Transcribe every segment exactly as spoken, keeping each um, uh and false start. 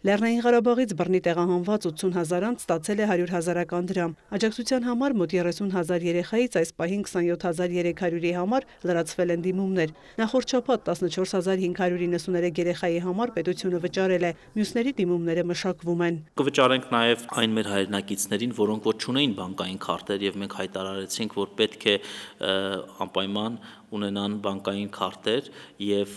Լեռնային Ղարաբաղից բռնի տեղահանված ութսուն հազար անց ստացել է հարյուր հազարական դրամ։ Աջակցության համար մոտ երեսուն հազար երեխայից այս պահին քսանյոթ հազար երեք հարյուրի համար լրացվել են դիմումներ։ Նախորդ շաբաթ տասնչորս հազար հինգ հարյուր իննսուներեք երեխայի համար պետությունը վճարել է, մյուսների դիմումները մշակվում են։ Կվճարենք նաև այն մեր հայրենակիցներին, որոնք որ չունեին բանկային քարտեր, եւ մենք հայտարարեցինք, որ պետք է անպայման ունենան բանկային քարտեր, եւ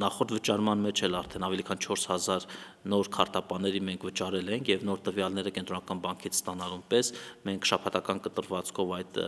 նախորդ վճարման մեջ էլ արդեն ավելի քան չորս հազար նոր քարտապաների մենք վճարել ենք եւ նոր տվյալները կենտրոնական բանկից ստանալուն պես մենք շաբաթական կտրվածքով այդ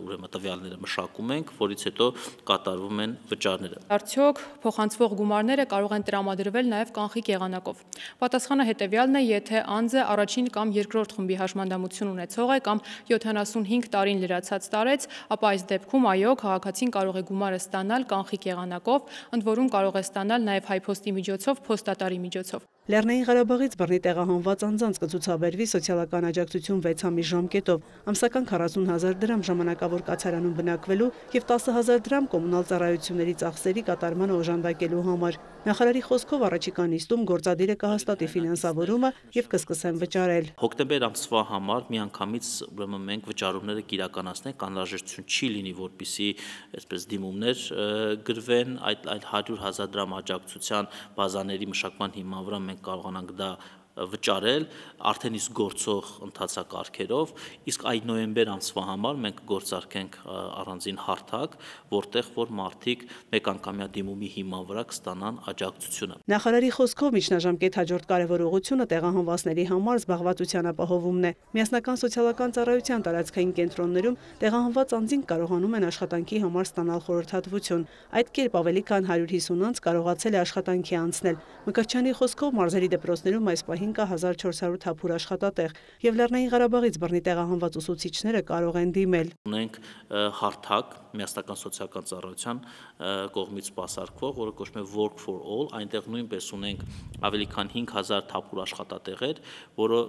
ուրեմն տվյալները մշակում ենք, որից հետո կատարվում են վճարները։ Արդյոք փոխանցվող գումարները կարող են տրամադրվել նաև կանխիկ եղանակով։ Պատասխանը հետևյալն է, եթե անձը առաջին կամ երկրորդ խմբի հաշմանդամություն ունեցող է կամ յոթանասունհինգ տարին լրացած տարեց, ապա այս դեպքում այո, քաղաքացին կարող է գումարը ստանալ կանխիկ եղանակով, ընդ որում կարող է ստանալ նաև հայփոստի միջոցով, փոստատարի միջոցով։ Լեռնային Ղարաբաղից բռնի տեղահանված անձանց կցուցաբերվի սոցիալական աջակցություն վեց ամիս ժամկետով, ամսական քառասուն հազար դրամ ժամանակավոր կացարանում բնակվելու եւ տասը հազար դրամ կոմունալ ծառայությունների ծախսերի կատարման օժանդակելու համար։ Նախարարի խոսքով առաջիկա նիստում գործադիրը կհաստատի ֆինանսավորումը եւ կսկսեն վճարել։ Հոկտեմբեր ամսվա համար միանգամից ուրեմն մենք վճարումները կիրականացնենք, անհրաժեշտություն չի լինի, որպեսզի այսպես դիմումներ գրվեն, այդ այլ հարյուր հազար դրամ աջակցության բազաների մշակման հիման վրա մենք կարողանանք դա վճարել արդեն իսկ գործող ընթացակարգերով, իսկ այդ նոյեմբեր ամսվա համար մենք գործարկենք առանձին հարթակ, որտեղ որ մարդիկ մեկանգամյա դիմումի հիման վրա կստանան աջակցությունը։ Նախարարի խոսքով միջնաժամկետ հաջորդ կարևոր ուղղությունը տեղահանվածների համար զբաղվածության ապահովումն է։ Միասնական սոցիալական ծառայության տարածքային կենտրոններում տեղահանված անձինք կարողանում են աշխատանքի համար ստանալ խորհրդատվություն։ Այդ կերպ ավելի քան հարյուր հիսուն անձ կարողացել է աշխատանքի անցնել։ Մկրտչյանի խոսքով մարզերի դպրոցներում այս պահին կա հազար չորս հարյուր թափուր աշխատատեղ եւ Լեռնային Ղարաբաղից բռնի տեղահանված ուսուցիչները կարող են դիմել։ Ունենք հարթակ միասնական սոցիալական ծառայության կողմից սպասարկվող, որը կոչվում է Work for All, այնտեղ նույնպես ունենք ավելի քան հինգ հազար թափուր աշխատատեղեր, որը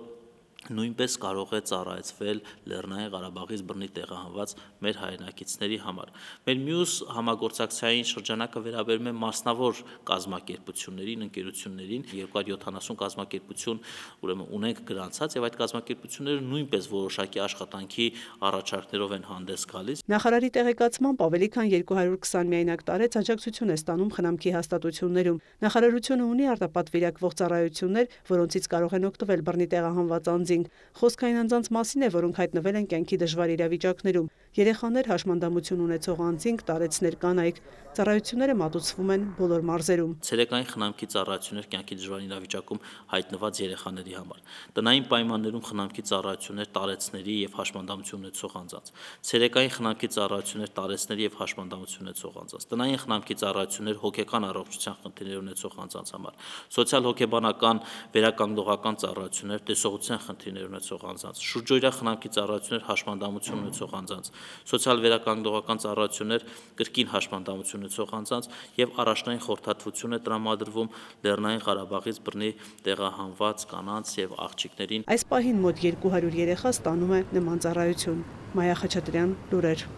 նույնպես կարող է ծառայեցվել Լեռնային Ղարաբաղից բռնի տեղահանված մեր հայրենակիցների համար։ Մեր մյուս համագործակցային շրջանակը վերաբերում է մասնավոր կազմակերպություններին, ընկերություններին, երկու հարյուր յոթանասուն կազմակերպություն ուրեմն ունենք գրանցած եւ այդ կազմակերպությունները նույնպես որոշակի աշխատանքի առաջարկներով են հանդես գալիս։ Նախարարի տեղեկացմամբ ավելի քան երկու հարյուր քսան միայնակ տարեց աջակցություն է ստանում խնամքի հաստատություններում։ Նախարարությունը ունի արտապատվիրակվող ծառայություններ, որոնցից կարող են օգտվել բռնի տեղահանված անձինք։ Խոսքը այն անձանց մասին է, որոնք հայտնվել են կյանքի դժվար իրավիճակներում։ Երեխաներ, հաշմանդամություն ունեցող անձինք, տարեցներ, կանայք։ Ծառայությունները մատուցվում են բոլոր մարզերում։ Ցերեկային խնամքի ծառայություններ կյանքի դժվար իրավիճակում հայտնված երեխաների համար։ Տնային պայմաններում խնամքի ծառայություններ տարեցների եւ հաշմանդամություն ունեցող անձանց։ Ցերեկային խնամքի ծառայություններ տարեցների եւ հաշմանդամություն ունեցող անձանց։ Տնային խնամքի ծառայություններ հոգեկան առողջության խնդիրներ ունեցող անձանց համար։ Սոցիալ-հոգեբանական վերականգնողական ծառայություններ տեսողության խնդիրներ ունեցող անձանց։ Շուրջօրյա խնամքի ծառայություններ հաշմանդամություն ունեցող անձանց։ Սոցիալ վերականգնողական ծառայություններ կրկին հաշմանդամություն ունեցող անձանց եւ առաջնային խորհրդատվություն է տրամադրվում Լեռնային Ղարաբաղից բռնի տեղահանված կանանց եւ աղջիկներին։ Այս պահին մոտ երկու հարյուր երեխա ստանում է նման ծառայություն։ Մայա Խաչատրյան, լուրեր։